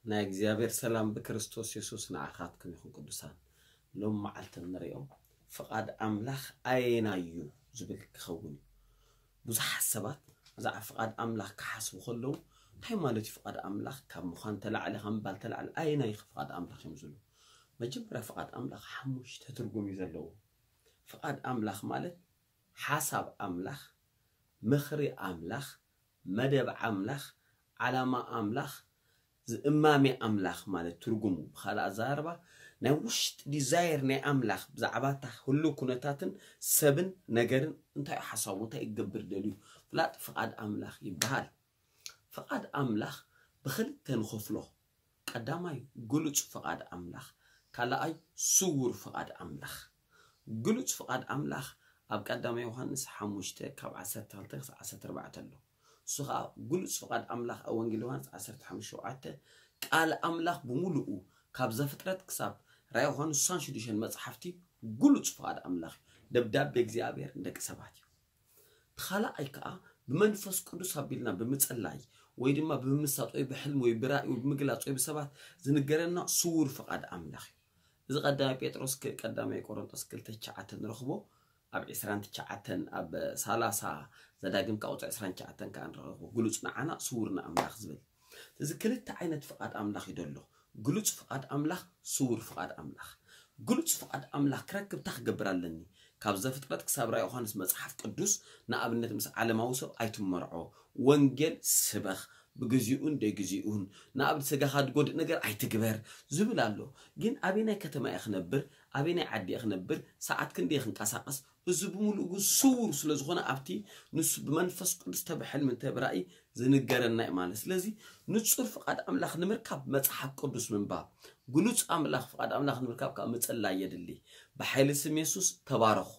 ናይ እግዚኣብሔር ሰላም ብክርስቶስ የሱስ ንዓኻትኩም ይኹን። ቅዱሳን፣ ሎም መዓልቲ እንሪኦም ፍቓድ ኣምላኽ ኣየናይ እዩ ዝብል ክኸውን እዩ። ብዙሓት ሰባት ብዛዕባ ፍቓድ ኣምላኽ ክሓስቡ ከለዉ እንታይ ማለት እዩ ፍቓድ ኣምላኽ ካብ ምዃን ተላዕለ ካብ ምባል ተላዕለ ኣየናይ እዩ ፍቓድ ኣምላኽ እዮም ዝብሉ። መጀመርያ ፍቓድ ኣምላኽ ሓሙሽተ ትርጉም እዩ ዘለዎ። ፍቓድ ኣምላኽ ማለት ሓሳብ ኣምላኽ፣ ምኽሪ ኣምላኽ፣ መደብ ኣምላኽ፣ ዓላማ ኣምላኽ፣ ዝእማሜ ኣምላኽ ማለት ትርጉሙ ብኻልእ ኣዘራርባ ናይ ውሽጢ ዲዛየር ናይ ኣምላኽ ብዛዕባ እታ ህሉው ኩነታትን ሰብን ነገርን እንታይ እዩ ሓሳቡ እንታይ ክገብር ደልዩ ፍላጥ ፍቓድ ኣምላኽ ይበሃል። ፍቓድ ኣምላኽ ብኽልተ ንኸፍሎ። ቀዳማይ ግሉጽ ፍቓድ ኣምላኽ፣ ካልኣይ ስውር ፍቓድ ኣምላኽ። ግሉጽ ፍቓድ ኣምላኽ ኣብ ቀዳማይ ዮሃንስ ሓሙሽተ ካብ ዓሰርተ ክልተ ክሳብ ዓሰርተ ኣርባዕተ ኣሎ። እሱ ኸዓ ግሉጽ ፍቓድ ኣምላኽ ኣብ ወንጌል ዮሃንስ ዓሰርተ ሓሙሽተ ሸውዓተ ቃል ኣምላኽ ብምሉኡ ካብ ዘፍጥረት ክሳብ ራእይ ዮሃንስ ስሳን ሽዱሽተን መጽሓፍቲ ግሉጽ ፍቓድ ኣምላኽ እዩ። ደብዳቤ እግዚኣብሔር ንደቂ ሰባት እዩ። እቲ ካልኣይ ከዓ ብመንፈስ ቅዱስ ኣቢልና ብምጽላይ ወይ ድማ ብምምሳጥ ወይ ብሕልሚ ወይ ብራእይ ወይ ብምግላጽ ወይ ብሰባት ዝንገረና ስውር ፍቓድ ኣምላኽ እዩ። እዚ ቀዳማይ ጴጥሮስ ክ- ቀዳማይ ቆሮንጦስ ክልተ ትሽዓተ ንረኽቦ ኣብ ዕስራን ትሽዓተን ኣብ ሰላሳ ዘዳግም ካብ ቁፅሪ ዕስራን ትሽዓተን ከዓ ንረኽቦ ግሉጽ ንዓና ስውር ንኣምላኽ ዝብል እዚ ክልተ ዓይነት ፍቓድ ኣምላኽ እዩ ዘሎ። ግሉጽ ፍቓድ ኣምላኽ፣ ስውር ፍቓድ ኣምላኽ። ግሉጽ ፍቓድ ኣምላኽ ክረክብ እንታይ ክገብር ኣለኒ? ካብ ዘፍጥረት ክሳብ ራእይ ዮሃንስ መጽሓፍ ቅዱስ ንኣብነት ምስ ዓለማዊ ሰብ ኣይትመርዖ፣ ወንጌል ስበኽ ብግዚኡን ደይግዚኡን፣ ንኣብነት ስጋኻ ዝጎድእ ነገር ኣይትግበር ዝብል ኣሎ። ግን ኣበየናይ ከተማ እየ ክነብር? ኣበየናይ ዓዲ እየ ክነብር? ሰዓት ክንደይ እየ ክንቀሳቐስ? እዚ ብምሉእ ግን ስውር ስለ ዝኾነ ኣብቲ ንሱ ብመንፈስ ቅዱስ ተብሕልሚ እንተብራእይ ዝንገረና እዩ ማለት። ስለዚ ንጹር ፍቓድ ኣምላኽ ንምርካብ መጽሓፍ ቅዱስ ምንባብ፣ ግሉጽ ኣምላኽ ፍቓድ ኣምላኽ ንምርካብ ካብ ምጽላይ የድሊ። ብሓይሊ ስም የሱስ ተባረኹ።